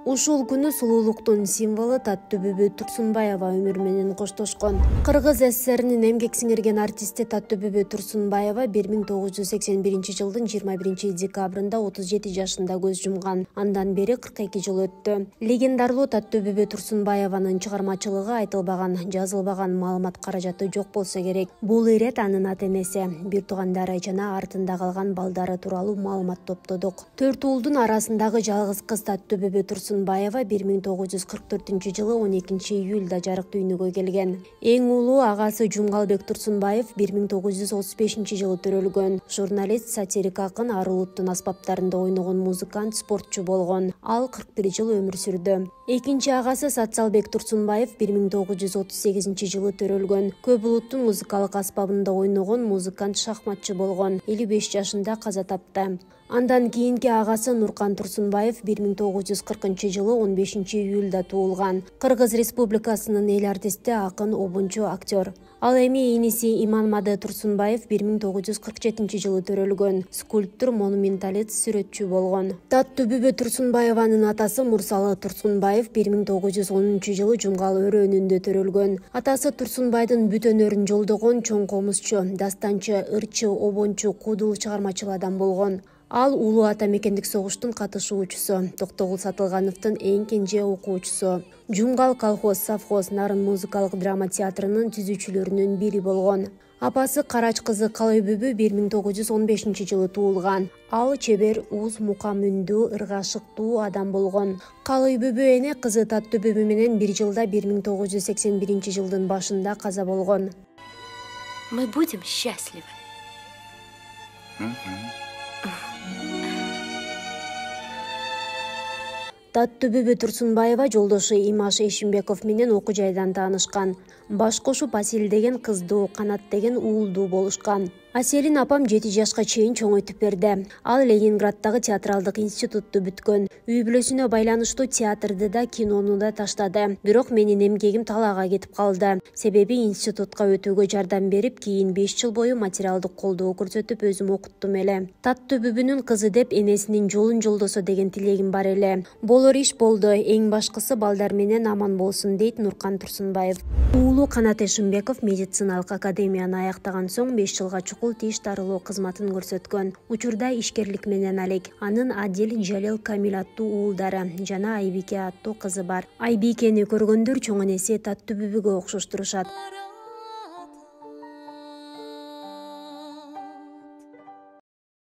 Ушул күнү сулуулуктун символу Таттуу бүбү Турсунбаева өмүр менен коштошкон. Кыргыз СССРинин эмгек сиңирген артисти Таттуу бүбү Турсунбаева 1981 жылдын 21 декабрында 37 жашында көз жумган. Андан бери 42 жыл өттү. Легендарлуу Таттуу бүбү Турсунбаеванын чыгармачылыгы айтылбаган, жазылбаган маалымат каражаты жок болсо керек. Бул ирет анын ата-энеси, бир туугандары жана артында калган балдары тууралуу маалымат топтодук. 4 уулдун арасындагы жалгыз кыз Таттуу бүбү Турсунбаева 1944 жылы 12 июлда жарык дүйнөгө келген. Эң улуу агасы Жумгалбек Турсунбаев 1935 жылы төрөлгөн. Журналист, сатирик акын, ар улуттун аспаптарында ойногон музыкант, спортчу болгон. Ал 41 жыл өмүр сүрдү. Экинчи агасы Сатсалбек Турсунбаев 1938 жылы төрөлгөн. Көп улуттун музыкалык аспабында ойногон музыкант, шахматчы болгон. 55 жашында каза тапты. Андан кийинки агасы Нуркан Турсунбаев 1940 жылы 15 июлда туулган. Кыргыз Республикасынын эл артисти, акын, обунчу, актер. Ал эми иниси Иманмады Турсунбаев 1947 жылы төрөлгөн. Скульптор, монументалист, сүрөтчү болгон. Таттуу бүбү Турсунбаеванын атасы Мурсалы Турсунбаев 1910 жылы Жумгал өрөөнүндө төрөлгөн. Атасы Турсунбайдын бүт өнөрүн жолдогон чоң комузчу, дастанчы, ырчы, обончу, куудул, чыгармачыл адам болгон. Ал Улуу Ата мекендик согуштун катышуучусу, Токтогул Сатылгановдун эң кенже окуучусу. Жумгал колхоз, совхоз, Нарын музыкалык драма театрынын түзүүчүлөрүнүн бири болгон. Апасы Карач кызы Калой бүбү 1915 жылы туулган. Ал чебер, уз, мукам үндүү, ыргашыктуу адам болгон. Калой бүбү эне кызы Таттуу бүбү менен бир жылда 1981 жылдын башында каза болгон. Мы будем счастливы. Таттуу бүбү Турсунбаева жолдошу Имаш Эшимбеков менен окуу жайдан таанышкан. Баш кошуп Асель деген кыздуу, Канат деген уулдуу болушкан. Аселин апам 7 жашка чейин чоңойтуп берди. Ал Ленинграддагы театралдык институтту бүткөн. Үй бүлөсүнө байланыштуу театрды да, кинону да таштады. Бирок менин эмгегим талаага кетип калды. Себеби институтка өтүүгө жардам берип, кийин 5 жыл бою материалдык колдоо көрсөтүп өзүм окуттум эле. Таттуу бүбүнүн кызы деп энесинин жолун жолдосо деген тилегим бар эле. Болор иш болду. Эң башкысы балдар менен аман болсун, дейт Нуркан Турсунбаев. Уулу Канат Эшимбеков медициналык академияны аяктаган соң 5 жылга чукул тиш дарылоо кызматын көрсөткөн. Учурда ишкерлик менен алек. Анын Адил, Жалил, Камил аттуу уулдары жана Айбике аттуу кызы бар. Айбикени көргөндөр чоң энеси Таттуу бүбүгө окшоштурушат.